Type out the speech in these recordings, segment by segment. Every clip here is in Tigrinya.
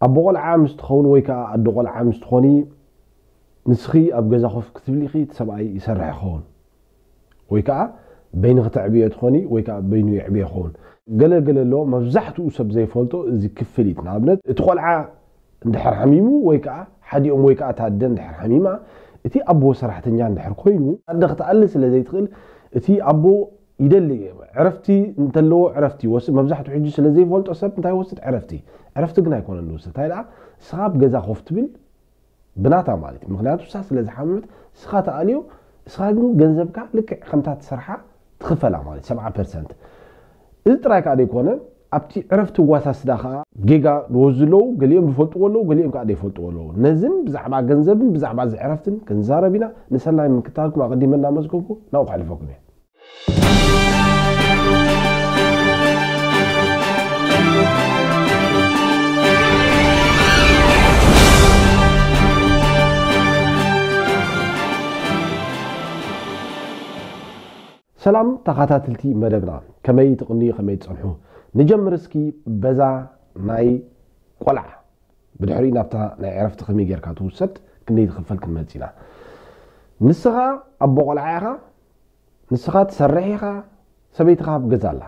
ኣቦ ቆልዓ ምስ ትኸውን ወይ ከዓ ኣዶ ቆልዓ ምስ ትኾኒ፣ ንስኺ ኣብ ገዛ ኮፍ ክትብሊ ኢኺ፣ እቲ ሰብኣይ ይሰርሕ ይኸውን። ወይ ከዓ በይንኺ ተዕብዮ ትኾኒ ወይ ከዓ በይኑ የዕብዮ ይኸውን። ገለ ገለ ኣሎ፣ መብዛሕትኡ ሰብ ዘይፈልጦ እዚ ክፍሊት። ንኣብነት እቲ ቆልዓ እንድሕር ሓሚሙ ወይ ከዓ ሓዲኦም ወይ ከዓ እታ ኣደ እንድሕር ሓሚማ፣ እቲ ኣቦ ሰራሕተኛ እንድሕር ኮይኑ፣ ኣደ ክትኣሊ ስለ ዘይትኽእል፣ እቲ ኣቦ ይደሊ። ዕረፍቲ እንተለዎ ዕረፍቲ ይወስድ። መብዛሕትኡ ሕጂ ስለ ዘይፈልጦ ሰብ እንታይ ይወስድ? ዕረፍቲ። ዕረፍቲ ግን ኣይኮነን ዝወስድ። እንታይ ደኣ? ንስኻ ኣብ ገዛ ኮፍ ትብል ብናታ ማለት እዩ። ምኽንያቱ ንሳ ስለ ዝሓመመት ንስኻ ትኣልዮ፣ ንስኻ ግን ገንዘብካ ልክዕ ከምታ ትሰርሓ ትኽፈላ ማለት እዩ፣ ሰብዓ ፐርሰንት። እዚ ጥራይ ከኣ ዘይኮነ፣ ኣብቲ ዕረፍቲ ዋሳስዳ ከኣ ጌጋ ዝወስዱ ኣለዉ፣ ገሊኦም ዝፈልጥዎ ኣለዉ፣ ገሊኦም ከኣ ዘይፈልጥዎ ኣለዉ። ነዝን ብዛዕባ ገንዘብን ብዛዕባ እዚ ዕረፍትን ክንዛረብ ኢና። ንሰናይ ምክታልኩም ኣቐዲመ እናመስገንኩ ናብኡ ከሕልፈኩም እየ። ሰላም ተኸታተልቲ መደብና፣ ከመይ ትቕንዩ፣ ከመይ ትጸንሑ? ንጀምር እስኪ በዛ ናይ ቆልዓ። ብድሕሪኡ ናብታ ናይ ዕረፍቲ ከመይ ጌርካ ትውሰድ፣ ክንደይ ትኽፈል ክንመጽእ ኢና። ንስኻ ኣቦ ቆልዓ ኢኻ፣ ንስኻ ትሰርሕ ኢኻ፣ ሰበይትኻ ኣብ ገዛ ኣላ።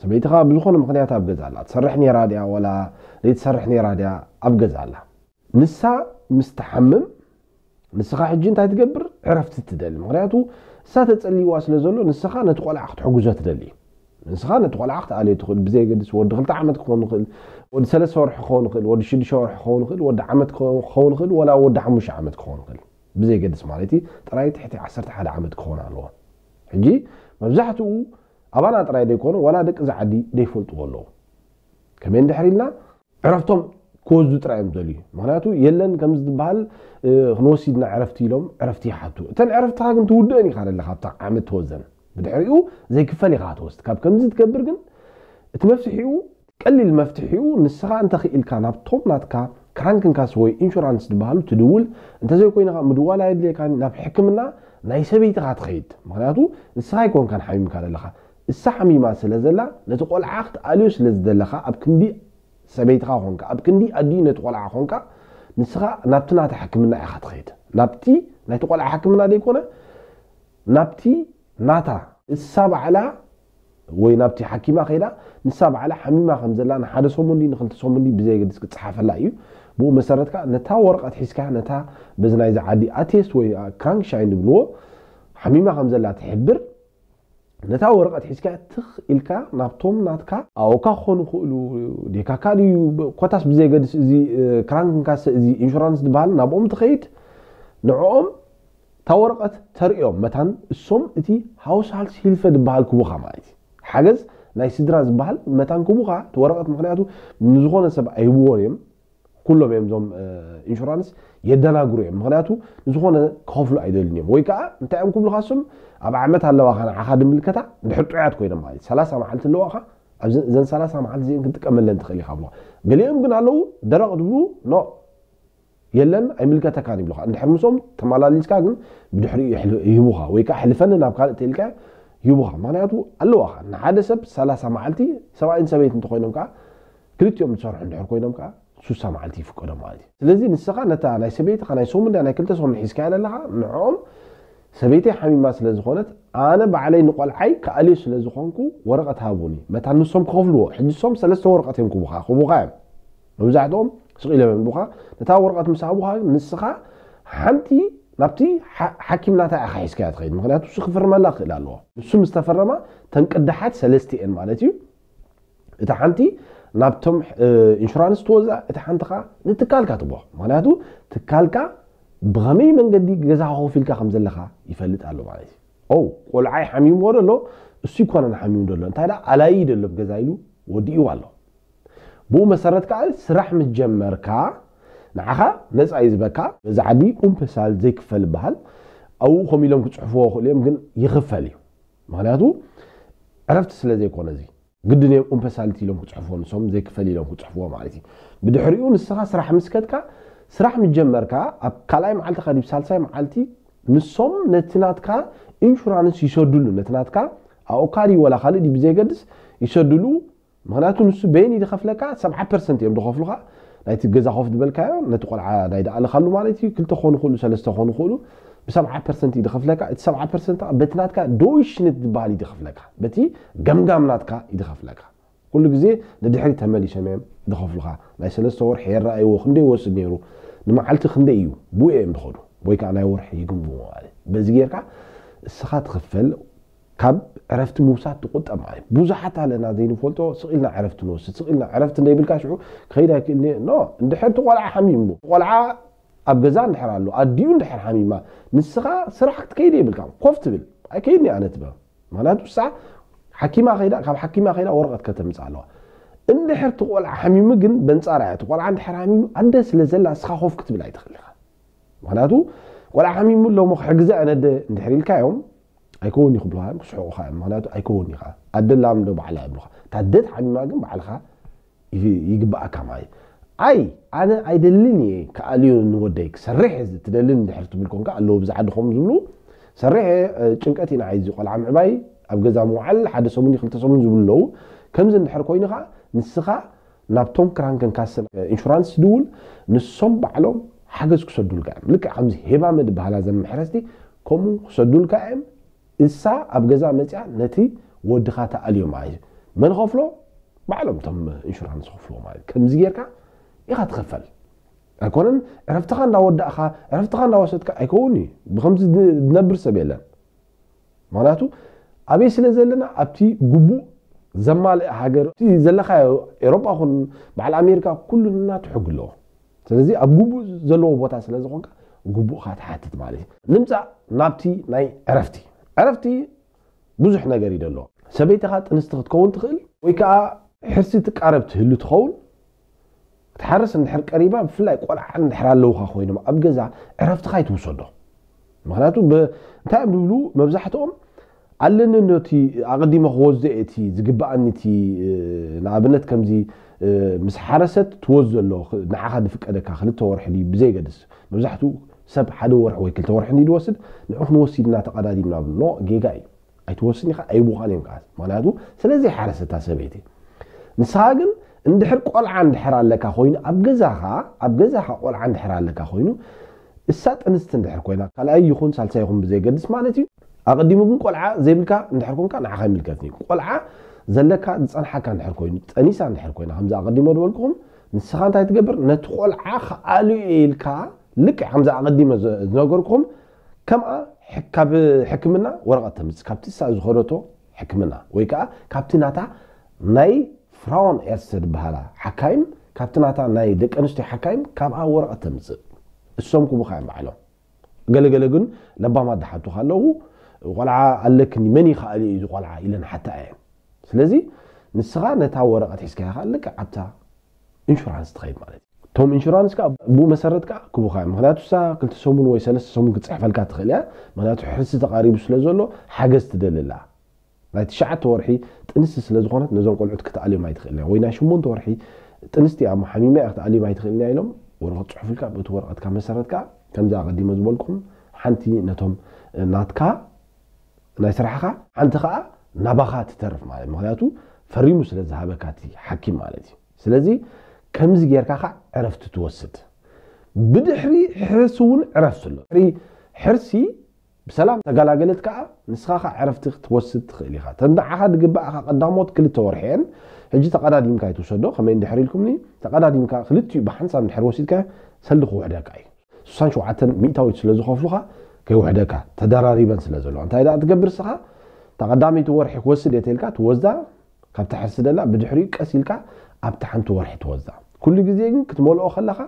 ሰበይትኻ ብዝኾነ ምኽንያት ኣብ ገዛ ኣላ። ትሰርሕ ነይራ ድያ ወላ ዘይትሰርሕ ነይራ ድያ? ኣብ ገዛ ኣላ። ንሳ ምስ ትሓምም፣ ንስኻ ሕጂ እንታይ ትገብር? ዕረፍቲ ትደሊ። ምኽንያቱ ንሳ ተጸልይዋ ስለ ዘሎ፣ ንስኻ ነቲ ቆልዓ ክትሕግዞ ትደሊ። ንስኻ ነቲ ቆልዓ ክትኣልዮ ትኽእል፣ ብዘየገድስ ወዲ ክልተ ዓመት ክኸውን ይኽእል፣ ወዲ ሰለስተ ወርሒ ክኸውን ይኽእል፣ ወዲ ሽዱሽተ ወርሒ ክኸውን ይኽእል፣ ወዲ ዓመት ክኸውን ይኽእል፣ ወላ ወዲ ሓሙሽተ ዓመት ክኸውን ይኽእል። ብዘየገድስ ማለት እዩ፣ ጥራይ ትሕቲ ዓሰርተ ሓደ ዓመት ክኸውን ኣለዎ። ሕጂ መብዛሕትኡ ኣባና ጥራይ ዘይኮነ፣ ዋላ ደቂ እዚ ዓዲ ዘይፈልጥዎ ኣለዉ። ከመይ እንድሕር ኢልና፣ ዕረፍቶም ክወስዱ ጥራይ እዮም ዝደልዩ። ምኽንያቱ የለን ከምዚ ዝበሃል፣ እ፣ ክንወስድ ኢና ዕረፍቲ ኢሎም ዕረፍቲ ይሓቱ። እተን ዕረፍትኻ ግን ትውድእን ኢኻ ዘለኻ ኣብታ ዓመት ትወዘን። ብድሕሪኡ ዘይክፈል ኢኻ ትወስድ። ካብ ከምዚ ትገብር ግን እቲ መፍትሒኡ፣ ቀሊል መፍትሒኡ፣ ንስኻ እንተኽኢልካ ናብቶም ናትካ ክራንክንካስ ወይ ኢንሹራንስ ዝበሃሉ ትድውል፣ እንተዘይኮይንኻ ምድዋል ኣየድልየካን፣ ናብ ሕክምና ናይ ሰበይትኻ ትኸይድ። ምኽንያቱ ንስኻ ኣይኮንካን ሓሚምካ ዘለኻ፣ እሳ ሓሚማ ስለ ዘላ፣ ነቲ ቆልዓ ክትኣልዮ ስለ ዝደለኻ፣ ኣብ ክንዲ ሰበይትኻ ኾንካ፣ ኣብ ክንዲ ኣዲኡ ነቲ ቆልዓ ኾንካ፣ ንስኻ ናብቲ ናታ ሕክምና ኢኻ ትኸይድ። ናብቲ ናይቲ ቆልዓ ሕክምና ዘይኮነ፣ ናብቲ ናታ፣ እሳ ባዕላ ወይ ናብቲ ሓኪማ ከይዳ፣ ንሳ ባዕላ ሓሚማ ከም ዘላ ንሓደ ሰሙን ድዩ ንክልተ ሰሙን ድዩ ብዘየገድስ ክጸሓፈላ እዩ። ብኡ መሰረት ከኣ ነታ ወረቐት ሒዝካ፣ ነታ በዚ ናይዚ ዓዲ ኣቴስት ወይ ክራንክሻይን ዝብልዎ፣ ሓሚማ ከም ዘላ ትሕብር። ነታ ወረቐት ሒዝካ ትኽ ኢልካ ናብቶም ናትካ ኣወካ ክኾኑ ይኽእሉ፣ ዴካካ ድዩ፣ ኮታስ ብዘየገድስ እዚ፣ እ፣ ክራንክንካሰ፣ እዚ ኢንሹራንስ ዝበሃል፣ ናብኦም ትኸይድ። ንዕኦም እታ ወረቐት ተርእዮም መታን እሶም እቲ ሃውስሃልስ ሂልፈ ዝበሃል ክቡኻ ማለት እዩ። ሓገዝ ናይ ስድራ ዝበሃል መታን ክቡኻ እቲ ወረቐት፣ ምኽንያቱ ንዝኾነ ሰብ ኣይህብዎን እዮም። ኩሎም እዮም እዞም፣ እ፣ ኢንሹራንስ የደናግሩ እዮም። ምኽንያቱ ንዝኾነ ክኸፍሉ ኣይደልን እዮም። ወይ ከዓ እንታይ እዮም ክብሉኻ እሶም፣ ኣብ ዓመት ኣለዋኻ ንዓኻ ድምልከታ፣ እንድሕር ጥዑያት ኮይኖም ማለት እዩ። ሰላሳ መዓልቲ ኣለዋኻ፣ ኣብዚ እዘን ሰላሳ መዓልቲ እዚአን ክንጥቀመለን ትኽእል ኢኻ ብሎ። ገሊኦም ግን ኣለዉ ደረቕ ዝብሉ፣ ኖ፣ የለን፣ ኣይምልከተካን ይብሉኻ። እንድሕር ምስኦም ተመላሊስካ ግን ብድሕሪኡ ይሕል-፣ ይህቡኻ፣ ወይ ከዓ ሕልፈኒ ናብ ካልእ ተኢልካ ይህቡኻ። ምኽንያቱ ኣለዋኻ። ንሓደ ሰብ ሰላሳ መዓልቲ፣ ሰብኣይን ሰበይትን እንተኾይኖም ከዓ፣ ክልቲኦም ዝሰርሑ እንድሕር ኮይኖም ከዓ፣ ሱሳ መዓልቲ ይፍቀዶ ማለት እዩ። ስለዚ ንስኻ ነታ ናይ ሰበይትኻ ናይ ሰሙን ድያ ናይ ክልተ ሰሙን ሒዝካያ ዘለኻ፣ ንዕኦም ሰበይተይ ሓሚማ ስለ ዝኾነት፣ ኣነ ባዕለይ ንቆልዓይ ክኣልዮ ስለ ዝኾንኩ ወረቐት ሃቡኒ። መታን ንሶም ክኸፍልዎ፣ ሕጂ ንሶም ሰለስተ ወረቐት እዮም ክቡኻ፣ ክቡኻ እዮም። መብዛሕትኦም ስቕ ኢሎም እዮም ክቡኻ። ነታ ወረቐት ምስ ሃቡኻ፣ ንስኻ ሓንቲ ናብቲ ሓ-፣ ሓኪም ናታ ኢኻ ሒዝካያ ትኸይድ። ምኽንያቱ ንሱ ክፍርመላ ክኽእል ኣለዎ። ንሱ ምስ ተፈረማ፣ እተን ቅዳሓት ሰለስተ እየን ማለት እዩ። እታ ሓንቲ ናብቶም፣ እ፣ ኢንሹራንስ ትወዛ፣ እታ ሓንቲ ኸዓ ንትካልካ ትቦ። ምኽንያቱ ትካልካ ብኸመይ መንገዲ ገዛኻ ኮፍ ኢልካ ከም ዘለኻ ይፈልጥ ኣሎ ማለት እዩ። ኦ፣ ቆልዓይ ሓሚምዎ ደሎ፣ እሱ ይኮነን ሓሚሙ ደሎ። እንታይ ደኣ፣ ኣላዪ ደሎ ኣብ ገዛ ኢሉ ወዲእዋ ኣሎ። ብኡ መሰረት ከኣ ስራሕ ምስ ጀመርካ፣ ንዓኻ ነጻ እዩ ዝበካ። በዚ ዓዲ ኡምፐሳል ዘይክፈል ይበሃል። ኣብኡ ከም ኢሎም ክጽሕፍዎ ይኽእሉ እዮም፣ ግን ይኽፈል እዩ። ምኽንያቱ ዕረፍቲ ስለ ዘይኮነ እዚ። ግድን እዮም ኡምፐሳልቲ ኢሎም ክጽሕፍዎ፣ ንሶም ዘይክፈል ኢሎም ክጽሕፍዎ ማለት እዩ። ብድሕሪኡ ንስኻ ስራሕ ምስ ከድካ፣ ስራሕ ምስ ጀመርካ፣ ኣብ ካልኣይ መዓልቲ ከዲብ ሳልሳይ መዓልቲ ንሶም ነቲ ናትካ ኢንሹራንስ ይሰድሉ፣ ነቲ ናትካ ኣኦካ ድዩ ወላ ካልእ ድዩ ብዘየገድስ ይሰድሉ። ምኽንያቱ ንሱ በይን እዩ ዝኸፍለካ፣ ሰብዓ ፐርሰንት እዮም ዝኸፍሉኻ። ናይቲ ገዛ ኮፍ ዝበልካዮ ነቲ ቆልዓ ናይ ደኣልኻሉ ማለት እዩ። ክልተ ክኾኑ ክእሉ፣ ሰለስተ ክኾኑ ክእሉ፣ ብሰብዓ ፐርሰንት እዩ ድኸፍለካ። እቲ ሰብዓ ፐርሰንት ከዓ በቲ ናትካ ዶይሽንት ዝበሃል እዩ ድኸፍለካ፣ በቲ ገምጋም ናትካ እዩ ድኸፍለካ። ኩሉ ግዜ ንድሕሪት ተመሊሶም እዮም ድኸፍሉኻ። ናይ ሰለስተ ወርሒ የረኣይዎ ክንደይ ይወስድ ነይሩ፣ ንመዓልቲ ክንደይ እዩ ብኡ እዮም ድኸዱ፣ ወይ ከዓ ናይ ወርሒ ይግምግሞ ማለት እዩ። በዚ ጌርካ እስኻ ትኽፈል፣ ካብ ዕረፍቲ ምውሳድ ትቁጠብ ማለት እዩ። ብዙሓት ኣለና ዘይንፈልጦ፣ ስቕ ኢልና ዕረፍቲ ንወስድ፣ ስቕ ኢልና ዕረፍቲ እንደይብልካ ሽዑ ክኸይድ ኣይክእልን እየ። ኖ፣ እንድሕር እቲ ቆልዓ ሓሚሙ፣ ቆልዓ ኣብ ገዛ እንድሕር ኣሎ፣ ኣዲኡ እንድሕር ሓሚማ፣ ንስኻ ስራሕ ክትከይድ የብልካ፣ ኮፍ ትብል። ኣይከይድን እየ ኣነ ትበል። ምክንያቱ እሳ ሓኪማ ከይዳ፣ ካብ ሓኪማ ከይዳ ወረቐት ከተምፅእ ኣለዋ። እንድሕር እቲ ቆልዓ ሓሚሙ ግን በንፃራ እያ። እቲ ቆልዓ እንድሕር ሓሚሙ ኣደ ስለ ዘላ እስኻ ኮፍ ክትብል ኣይትኽእል ኢኻ። ምክንያቱ ቆልዓ ሓሚሙ ኣሎ እሞ ክሕግዛ እየ ነደ እንድሕር ኢልካዮም ኣይከውን እዩ ክብሉኻ እዮም፣ ክስሕቑኻ እዮም። ምክንያቱ ኣይከውን ኢኻ ኣደ ላም ዶ ባዕላ ይብሉኻ። እታ ኣደ ተሓሚማ ግን ባዕልኻ ይግ- ይግብኣካ ማለት እዩ። ኣይ ኣነ ኣይደልን እየ ክኣልዮ ንወደይ ክሰርሕ እየ ትደልን እንድሕር ትብል ኮንካ ኣለዉ ብዛ ዓዲ ከምኡ ዝብሉ ሰርሕ እየ እ፣ ጭንቀት ኢና ዓይዚ ቆልዓ ምዕባይ ኣብ ገዛ ምውዓል ሓደ ሰሙን ክልተ ሰሙን ዝብሉ ኣለዉ። ከምዚ እንድሕር ኮይኑ ከዓ ንስኻ ናብቶም ክራንከን ካሰን ኢንሹራንስ ትድውል፣ ንሶም ባዕሎም ሓገዝ ክሰዱልካ እዮም። ልክዕ ከምዚ ሄባመ ዝበሃላ ዘን መሕረስቲ ከምኡ ክሰዱልካ እዮም። እሳ ኣብ ገዛ መፅያ ነቲ ወድኻ ተኣልዮ ማለት እዩ። መን ኸፍሎ? ባዕሎም እቶም ኢንሹራንስ ኸፍሎ ማለት እዩ። ከምዚ ጌርካ ኢኻ ትኸፈል። ኣይኮነን ዕረፍትኻ እንዳወዳእኻ ዕረፍትኻ እንዳወሰድካ ኣይከውን እዩ። ብከምዚ ዝነብር ሰብ የለን። ምክንያቱ ኣበይ ስለ ዘለና ኣብቲ ግቡእ ዘማልእ ሃገር እቲ ዘለካ ኤሮጳ ኹን በዓል ኣሜሪካ ኩሉ ናቱ ሕጊ ኣለዎ። ስለዚ ኣብ ግቡእ ዘለዎ ቦታ ስለ ዝኾንካ ግቡእካ ትሓትት ማለት እዩ። ንምፃእ ናብቲ ናይ ዕረፍቲ ዕረፍቲ ብዙሕ ነገር እዩ ደሎ። ሰበይትኻ ጥንስቲ ክትከውን ትኽእል ወይ ከዓ ሕርሲ ትቃረብ ትህሉ ትኸውን። ክትሓርስ እንድሕር ቀሪባ ብፍላይ ቆልዓ እንድሕር ኣለውካ ኮይኖም ኣብ ገዛ ዕረፍትኻ ይትውሰዶ። ምክንያቱ እንታይ እዮም ዝብሉ መብዛሕትኦም ኣለኒ ነቲ ኣቐዲመ ክወስዶ እቲ ዝግብኣኒ እቲ ንኣብነት ከምዚ ምስ ሓረሰት ትወስዶ ኣሎ ንዓኻ ዝፍቀደካ ክልተ ወርሒ ድዩ ብዘይገድስ መብዛሕትኡ ሰብ ሓደ ወርሒ ወይ ክልተ ወርሒ እንዲ ዝወስድ ንዑ ክንወስድ ኢና ተቐዳዲምና ብሎ ጌጋ እዩ። ኣይትወስን ኢኻ ኣይቡኻን እዮም ከዓ ምክንያቱ ስለዚ ሓረሰታ ሰበይቲ ንስኻ ግን እንድሕር ቆልዓ እንድሕር ኣለካ ኮይኑ ኣብ ገዛኻ ኣብ ገዛኻ ቆልዓ እንድሕር ኣለካ ኮይኑ እሳ ጥንስቲ እንድሕር ኮይና ካልኣይ ይኹን ሳልሳይ ይኹን ብዘይገድስ ማለት እዩ ኣቐዲሙ ግን ቆልዓ ዘይብልካ እንድሕር ኮንካ ንዓኻ ይምልከትኒ ቆልዓ ዘለካ ዝፀንሓካ እንድሕር ኮይኑ ጠኒሳ እንድሕር ኮይና ከምዚ ኣቐዲሞ ዝበልኩኹም ንስኻ እንታይ ትገብር ነቲ ቆልዓ ክኣልዮ ኢልካ ልክዕ ከምዚ ኣቐዲመ ዝነገርኩኹም ከምኣ ካብ ሕክምና ወረቐት ተምፅእ ካብቲ እሳ ዝኸደቶ ሕክምና ወይ ከዓ ካብቲ ናታ ናይ ፍራውን ኤርሰ ዝበሃላ ሓካይም ካብቲ ናታ ናይ ደቂ ኣንስትዮ ሓካይም ካብኣ ወረቐት ተምፅእ እሶም ክቡኻ እዮም ባዕሎም ገለገለ ግን ለባማት ዝሓቱ ካለዉ ቆልዓ ኣለክኒ መን ይኽኣል እዩ እዚ ቆልዓ ኢለን ሓታ እየን ስለዚ ንስኻ ነታ ወረቐት ሒዝካ ኢኻ ልክዕ ኣብታ ኢንሹራንስ ትኸይድ ማለት እዩ እቶም ኢንሹራንስ ከዓ ብኡ መሰረት ከዓ ክቡኻ እዮም ምክንያቱ እሳ ክልተ ሰሙን ወይ ሰለስተ ሰሙን ክትፅሕፈልካ ትኽእል እያ ምክንያቱ ሕርሲ ተቃሪቡ ስለ ዘሎ ሓገዝ ትደልላ ናይ ትሽዓተ ወርሒ ጥንስቲ ስለ ዝኾነት ነዞም ቆልዑት ክትኣልዮም ኣይትኽእል እያ ወይ ናይ ሽሞንተ ወርሒ ጥንስቲ እያ ሓሚማ እያ ክትኣልዮም ኣይትኽእል እያ ኢሎም ወረቐት ፅሑፍልካ በቲ ወረቐትካ መሰረት ከዓ ከምዚ ኣቐዲመ ዝበልኩም ሓንቲ ነቶም ናትካ ናይ ስራሕኻ ሓንቲ ከዓ ናባኻ ትተርፍ ማለት ምክንያቱ ፈሪሙ ስለ ዝሃበካ እቲ ሓኪም ማለት እዩ ስለዚ ከምዚ ጌርካ ከዓ ዕረፍቲ ትወስድ ብድሕሪ ሕርሲ እውን ዕረፍቲ ኣሎ ድሕሪ ሕርሲ ብሰላም ተገላገለት ከዓ ንስኻ ከዓ ዕረፍቲ ክትወስድ ትኽእል ኢኻ ተንዳዓኻ ዝግባእኻ ቀዳሞት ክልተ ወርሒ እየን ሕጂ ተቐዳዲምካ ይትውሰዶ ከመይ እንድሕር ኢልኩምኒ ተቐዳዲምካ ክልቲኡ ብሓንሳብ እንድሕር ወሲድካ ሰልዲ ክውሕደካ እዩ ስሳን ሸውዓተን ሚእታዊት ስለ ዝኸፍሉኻ ከይውሕደካ ተደራሪበን ስለ ዘለዋ እንታይ ደኣ ትገብር ስኻ እታ ቀዳመይቲ ወርሒ ክወስድ እየ ተልካ ትወስዳ ካብታ ሕርሲ ደላ ብድሕሪኡ ቀስ ኢልካ ኣብታ ሓንቲ ወርሒ ትወስዳ ኩሉ ግዜ ግን ክትመልኦ ከለኻ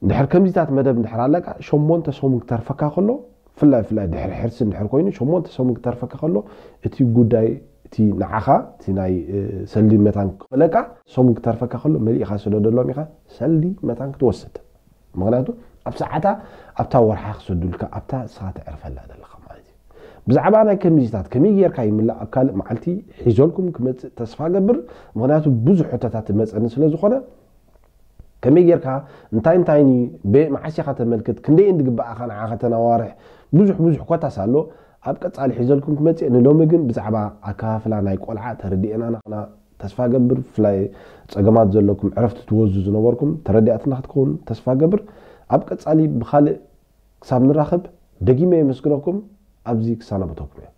እንድሕር ከምዚታት መደብ እንድሕር ኣለካ ሸሞንተ ሰሙን ክተርፈካ ከሎ ፍላይ ፍላይ ድሕሪ ሕርሲ እንድሕር ኮይኑ ሸሞንተ ሰሙን ክተርፈካ ከሎ እቲ ጉዳይ እቲ ንዓኻ እቲ ናይ ሰልዲ መታን ክለካ ሰሙን ክተርፈካ ከሎ መሊእኻ ስደደሎም ኢኻ ሰልዲ መታን ክትወስድ ምክንያቱ ኣብ ሰዓታ ኣብታ ወርሓ ክሰዱልካ ኣብታ እስኻ ትዕርፈላ ዘለኻ ማለት እዩ ብዛዕባ ናይ ከምዚታት ከመይ ጌርካ ይምላእ ኣብ ካልእ መዓልቲ ሒዘልኩም ክመፅእ ተስፋ ገብር ምክንያቱ ብዙሕ ሕቶታት ትመፀኒ ስለ ዝኾነ ከመይ ጌርካ እንታይ እንታይ መዓስ ኢኻ ተመልክት ክንደይ እንድግባኣኻ ንዓኻ ተናዋርሕ ብዙሕ ብዙሕ ኮታስ ኣሎ ኣብ ቀፃሊ ሒዘልኩም ክመፅእ ንሎሚ ግን ብዛዕባ ኣከፋፍላ ናይ ቆልዓ ተረዲኤና ናኽና ተስፋ ገብር ብፍላይ ጸገማት ዘለኩም ዕረፍቲ ትወዙ ዝነበርኩም ተረዲኣትና ክትከውን ተስፋ ገብር። ኣብ ቀጻሊ ብኻልእ ክሳብ ንራኸብ ደጊመ የመስግነኩም። ኣብዚ ክሳናበተኩም እየ።